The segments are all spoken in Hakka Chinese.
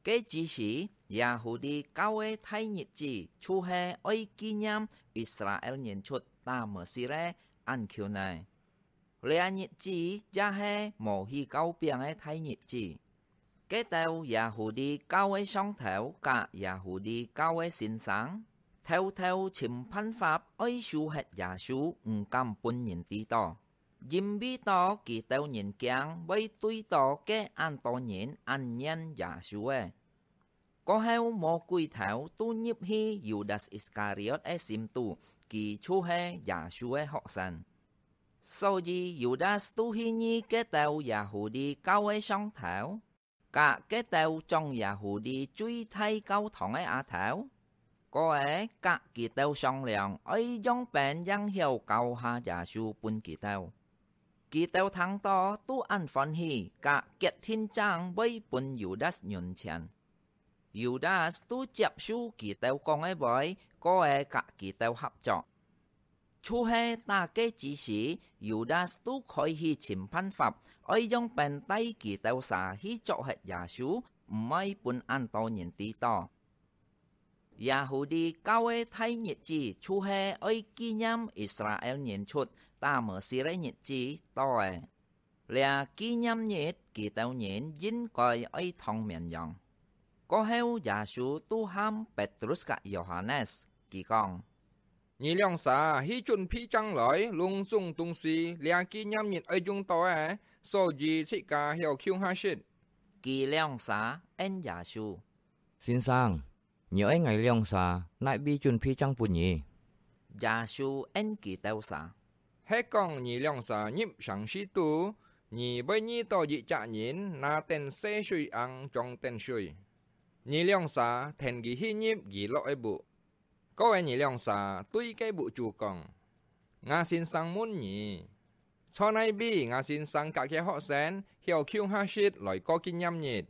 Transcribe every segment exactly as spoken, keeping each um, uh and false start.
該之時，Yahudi教个大日子就係愛紀念Israel人出Tamesir个Ankhune。這日子也係無起酵餅个大日子。該兜Yahudi教个上頭佮Yahudi教个先生，偷偷尋辦法愛收核耶穌，毋敢分人知著，因為著佢兜人驚會對著該恁多人恁怨耶穌仔。 過後魔鬼頭都入去Yudas Iskariot个心肚，佢就係耶穌个學生。所以Yudas都去覕該兜Yahudi教个上頭，佮該兜掌Yahudi最大教堂个阿頭，過仔佮佢兜商量愛仰般應曉交下耶穌分佢兜。佢兜聽著都恁歡喜，佮決定正會分Yudas銀錢。 Yudas都接受佢兜講个話，過仔佮佢兜合作。就係打該之時，Yudas都開始尋辦法，愛仰般帶佢兜儕去捉核耶穌，毋愛分恁多人知著。Yahudi教个大日子就係愛紀念Israel人出Tamesir个日子到仔。 這紀念日，佢兜人應該愛燙綿羊。過後耶穌都喊Petrus佮Yohanes，佢講：「你兩儕去準備正來攏總東西，這紀念日愛用到个，所以自家曉共下食。」佢兩儕應耶穌：「先生， 你愛𠊎兩儕哪位準備正分你？」耶穌應佢兜儕：「係講你兩儕入城市肚，你會遇著一隻人拿等細水甕裝等水。你兩儕跈佢去入佢落个屋。過仔你兩儕對該屋主講：『吾先生問你，在哪位吾先生佮厥學生曉共下食來過紀念日？』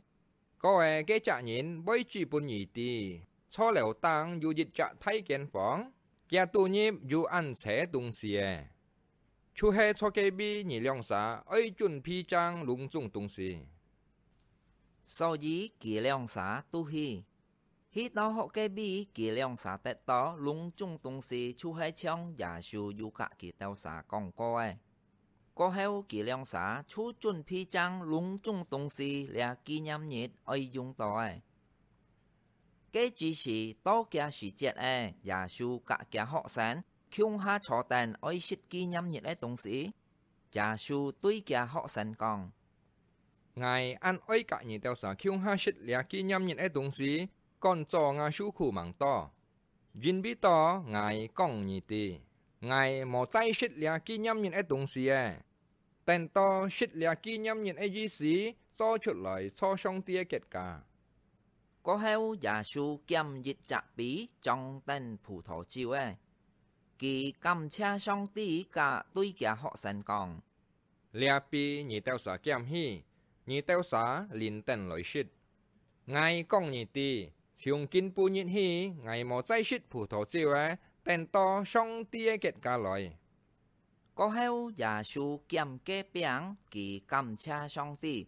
過仔該隻人會指分你知，在樓頂有一隻大間房，厥肚入有恁齊東西仔。就係在該位你兩儕愛準備正攏總東西。」所以佢兩儕都去。去到該位，佢兩儕得著攏總東西，就係像耶穌有佮佢兜儕講過个。 過後佢兩儕就準備正攏總東西，這紀念日愛用到个。該之時到厥時節仔，耶穌佮厥學生共下坐等愛食紀念日个東西。耶穌對厥學生講：「𠊎恁愛佮你兜儕共下食這紀念日个東西，趕早吾受苦吂到。 因為著𠊎講你知，𠊎無再食這紀念日个東西仔，等到食這紀念日个意思做出來在上帝个國家。」過後耶穌撿一隻杯裝等葡萄酒仔，佢感謝上帝，佮對厥學生講： 「這杯你兜儕撿去，你兜儕輪等來食。𠊎講你知，從今晡日起，𠊎無再食葡萄酒仔，等到上帝个國家來。」過後耶穌撿該餅，佢感謝上帝。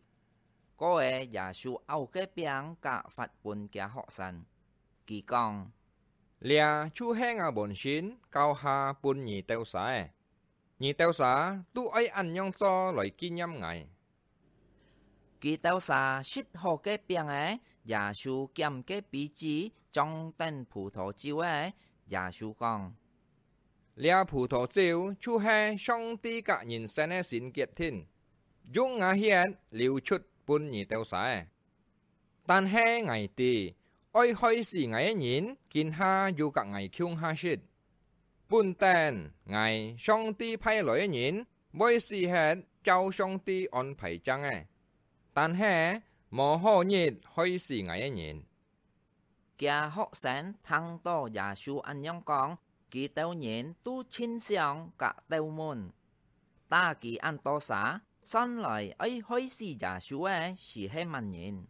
過仔耶穌拗該餅，佮發分厥學生。佢講：「這就係吾本身交下分你兜儕个。 你兜儕都愛恁樣做來紀念𠊎。」佢兜儕食好該餅仔，耶穌撿該杯子裝等葡萄酒仔，耶穌講：「這葡萄酒就係上帝佮人生个新決定，用吾血流出分你兜儕个。 但係𠊎知，愛害死𠊎个人，今下又佮𠊎共下食。本等𠊎上帝派來个人，會死忒照上帝安排正个，但係無好日害死𠊎个人。」厥學生聽著耶穌恁樣講，佢兜人都盡想佮竇問：「打佢恁多儕，算來愛害死耶穌个斯係麼人？」